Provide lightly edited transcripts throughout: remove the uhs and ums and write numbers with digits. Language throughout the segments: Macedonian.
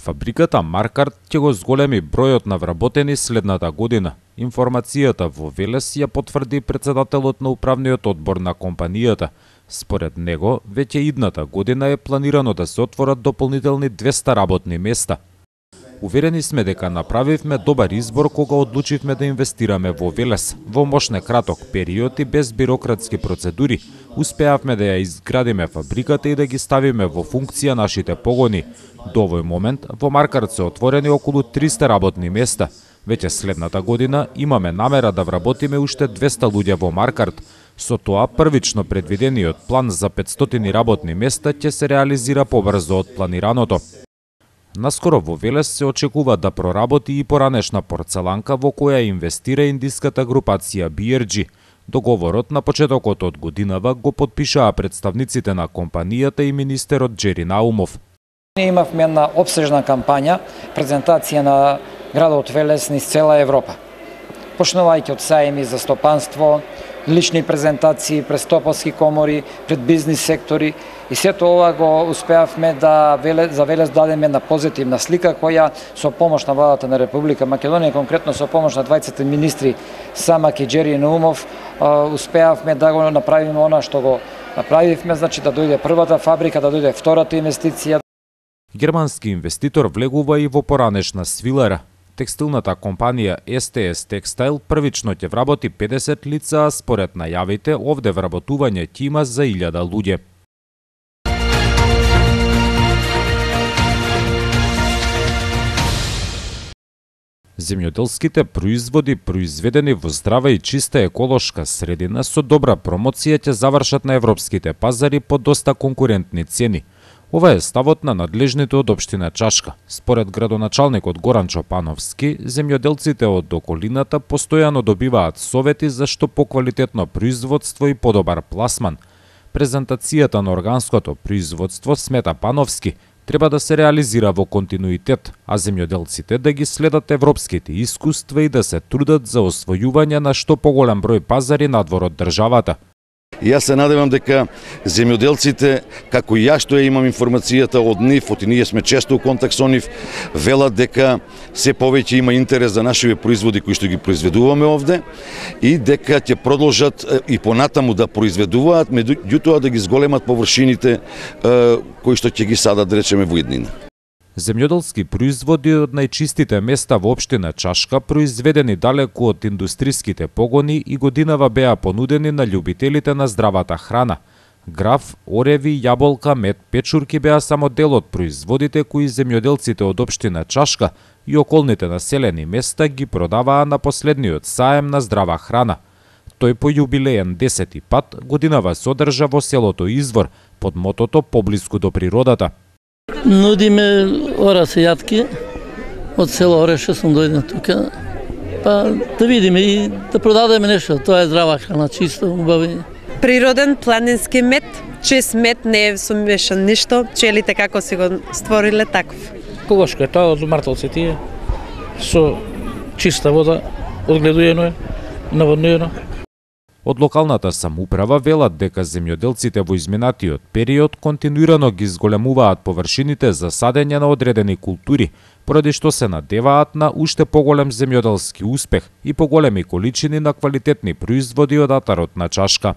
Фабриката Маркарт ќе го зголеми бројот на вработени следната година. Информацијата во Велес ја потврди претседателот на управниот одбор на компанијата. Според него, веќе идната година е планирано да се отворат дополнителни 200 работни места. Уверени сме дека направивме добар избор кога одлучивме да инвестираме во Велес. Во мощне краток период и без бирократски процедури, успеавме да ја изградиме фабриката и да ги ставиме во функција нашите погони. До овој момент во Маркарт се отворени околу 300 работни места. Веќе следната година имаме намера да вработиме уште 200 луѓе во Маркарт. Со тоа првично предвидениот план за 500 работни места ќе се реализира побрзо од планираното. Наскоро во Велес се очекува да проработи и поранешна порцеланка во која инвестира индиската групација BRG. Договорот на почетокот од годинава го потпишаа представниците на компанијата и министерот Джери Наумов. Ние имавме една опсежна кампања, презентација на градот Велес низ цела Европа. Почнувајќи од сајми за стопанство, лични презентации пред стопански комори, пред бизнис сектори и сето ова го успеавме да за Велес дадеме една позитивна слика која со помош на владата на Република Македонија, конкретно со помош на 20 министри Самак и Джери Наумов, успеавме да го направиме она што го направивме, значи да дојде првата фабрика, да дојде втората инвестиција. Германски инвеститор влегува и во поранешна свилера. Текстилната компанија STS Textile првично ќе вработи 50 лица, а според најавите овде вработување ќе има за 1000 луѓе. Земјоделските производи произведени во здрава и чиста еколошка средина со добра промоција ќе завршат на европските пазари по доста конкурентни цени. Ова е ставот на надлежните од општина Чашка. Според градоначалникот Горан Чопановски, земјоделците од околината постојано добиваат совети за што поквалитетно производство и подобар пласман. Презентацијата на органското производство, смета Пановски, треба да се реализира во континуитет, а земјоделците да ги следат европските искуства и да се трудат за освојување на што поголем број пазари надвор од државата. И јас се надевам дека земјоделците, како и ја што ја имам информацијата од нив, и ние сме често у контакт со нив, велат дека се повеќе има интерес за нашите производи кои што ги произведуваме овде и дека ќе продолжат и понатаму да произведуваат, меѓутоа да ги зголемат површините кои што ќе ги садат, речеме, во иднина. Земјоделски производи од најчистите места во општина Чашка, произведени далеку од индустриските погони и годинава беа понудени на љубителите на здравата храна. Граф, ореви, јаболка, мед, печурки беа само дел од производите кои земјоделците од општина Чашка и околните населени места ги продаваа на последниот саем на здрава храна. Тој по јубилеен 10-ти пат годинава се одржа во селото Извор, под мотото поблиску до природата. Нудиме ораси јатки од село Ореше, сум дојден тука, па да видиме и да продадеме нешто. Тоа е здрава храна, чисто, убави. Природен планински мед, чист мед, не е сумешан ништо, пчелите како си го створиле таков. Еколошко е тоа од мартелци тие, со чиста вода, одгледуено е, наводнено. Од локалната самоуправа велат дека земјоделците во изминатиот период континуирано ги зголемуваат површините за садење на одредени култури, поради што се надеваат на уште поголем земјоделски успех и поголеми количини на квалитетни производи од атарот на Чашка.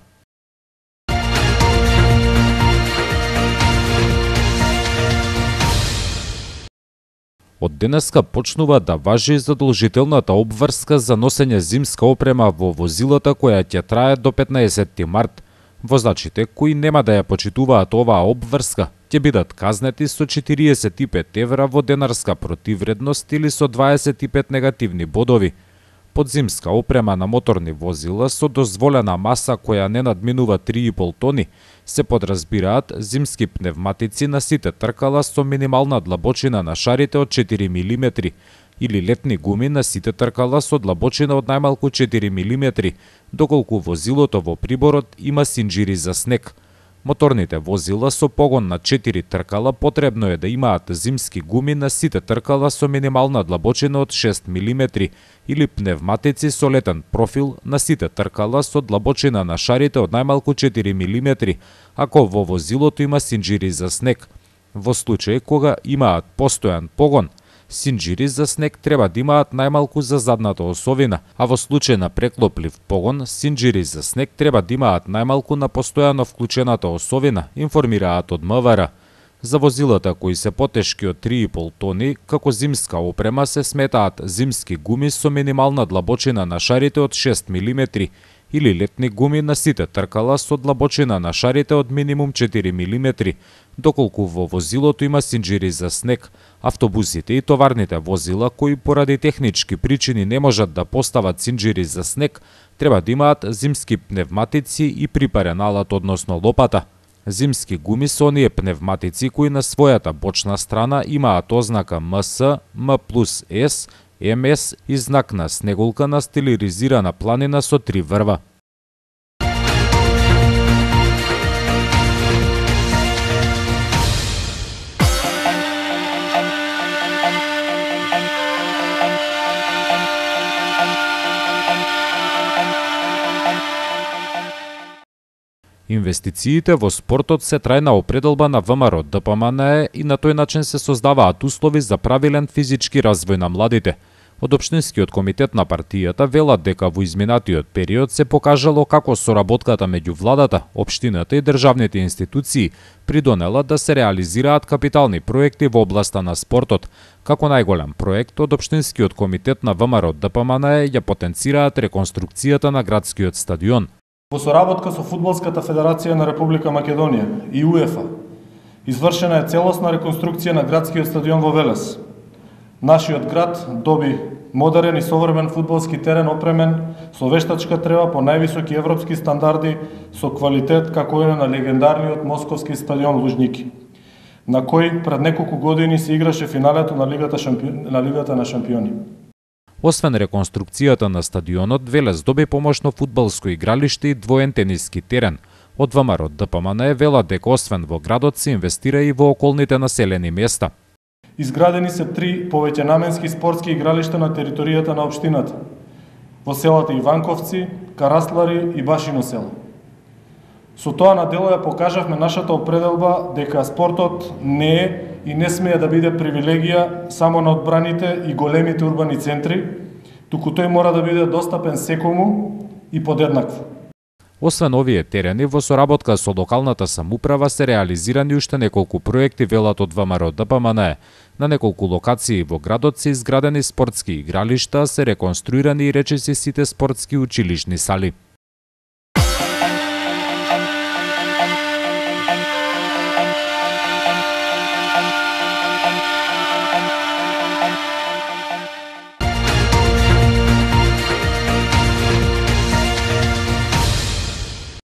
Од денеска почнува да важи задолжителната обврска за носење зимска опрема во возилата која ќе трае до 15 март. Возачите кои нема да ја почитуваат оваа обврска ќе бидат казнети со 45 евра во денарска противредност или со 25 негативни бодови. Под зимска опрема на моторни возила со дозволена маса која не надминува 3,5 тони се подразбираат зимски пневматици на сите тркала со минимална длабочина на шарите од 4 мм или летни гуми на сите тркала со длабочина од најмалку 4 мм, доколку возилото во приборот има синџири за снег. Моторните возила со погон на 4 тркала потребно е да имаат зимски гуми на сите тркала со минимална длабочина од 6 мм или пневматици со летен профил на сите тркала со длабочина на шарите од најмалку 4 мм, ако во возилото има синџири за снег. Во случај кога имаат постојан погон, синџири за снег треба да имаат најмалку за задната осовина, а во случај на преклоплив погон, синџири за снег треба да имаат најмалку на постојано вклучената осовина, информираат од МВР. За возилата кои се потешки од 3,5 тони, како зимска опрема се сметаат зимски гуми со минимална длабочина на шарите од 6 мм или летни гуми на сите тркала со длабочина на шарите од минимум 4 мм, доколку во возилото има синџири за снег. Автобусите и товарните возила кои поради технички причини не можат да постават синџири за снег, треба да имаат зимски пневматици и припарен алат, односно лопата. Зимски гуми се оние пневматици кои на својата бочна страна имаат ознака МС, М+С, МС и знак на снегулка на стилизирана планина со 3 врва. Инвестициите во спортот се трајна определба на ВМРО ДПМНЕ и на тој начин се создаваат услови за правилен физички развој на младите. Од Општинскиот комитет на партијата велат дека во изминатиот период се покажало како соработката меѓу владата, општината и државните институции придонела да се реализираат капитални проекти во областа на спортот. Како најголем проект од Општинскиот комитет на ВМРО ДПМНЕ ја потенцираат реконструкцијата на градскиот стадион. Во соработка со Фудбалската федерација на Република Македонија и УЕФА, извршена е целосна реконструкција на градскиот стадион во Велес. Нашиот град доби модерен и современ фудбалски терен опремен со вештачка трева по највисоки европски стандарди со квалитет како е на легендарниот московски стадион Лужники, на кој пред неколку години се играше финалето на Лигата на шампиони. Освен реконструкцијата на стадионот, Велес доби помошно фудбалско игралиште и двоен тениски терен. Од ВМРО ДПМНЕ велат дека освен во градот се инвестира и во околните населени места. Изградени се 3 повеќенаменски спортски игралишта на територијата на општината, во селата Иванковци, Караслари и Башино село. Со тоа на дело ја покажавме нашата определба дека спортот не е и не смее да биде привилегија само на одбраните и големите урбани центри, туку тој мора да биде достапен секому и подеднакво. Освен овие терени, во соработка со локалната самоуправа се реализирани уште неколку проекти, велат од ВМРО ДПМНЕ. На неколку локации во градот се изградени спортски игралишта, се реконструирани и речиси сите спортски училишни сали.